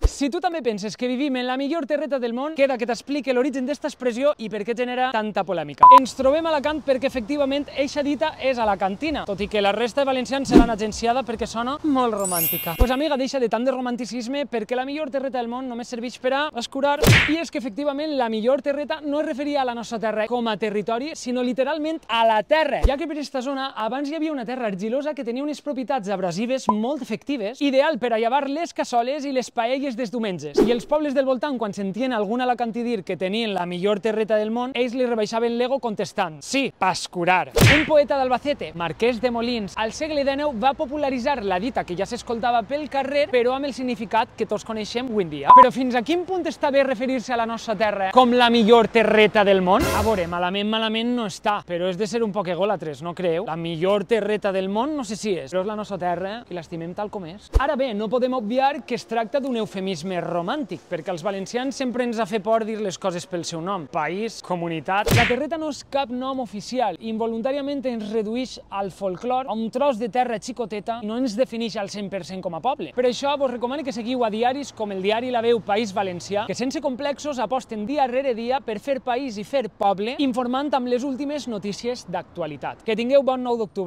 Si tu també penses que vivim en la millor terreta del món, queda que t'explique l'origen d'esta expressió i per què genera tanta polèmica. Ens trobem a Alacant perquè efectivament eixa dita és alacantina, tot i que la resta de valencians se l'han agenciada perquè sona molt romàntica. Pues amiga, deixa de tant de romanticisme perquè la millor terreta del món només serveix per a escurar, i és que efectivament la millor terreta no es referia a la nostra terra com a territori, sinó literalment a la terra, ja que per aquesta zona abans hi havia una terra argilosa que tenia unes propietats abrasives molt efectives, ideal per a llevar les cassoles i les paelles dels diumenges. I els pobles del voltant, quan sentien algun alacantí dir que tenien la millor terreta del món, ells li rebaixaven l'ego contestant: sí, pascurar. Un poeta d'Albacete, Marquès de Molins, al segle XIX va popularitzar la dita que ja s'escoltava pel carrer, però amb el significat que tots coneixem avui en dia. Però fins a quin punt està bé referir-se a la nostra terra com la millor terreta del món? A veure, malament no està, però és de ser un poc egòlatres, no creu? La millor terreta del món no sé si és, però és la nostra terra i l'estimem tal com és. Ara bé, no podem obviar que es tracta d'un eufemisme romàntic, perquè als valencians sempre ens ha fet por dir les coses pel seu nom: país, comunitat. La terreta no és cap nom oficial, involuntàriament ens redueix al folclor, a un tros de terra xicoteta, i no ens defineix al 100% com a poble. Per això vos recomano que seguiu a diaris com el diari La Veu País Valencià, que sense complexos aposten dia rere dia per fer país i fer poble, informant amb les últimes notícies d'actualitat. Que tingueu bon 9 d'octubre.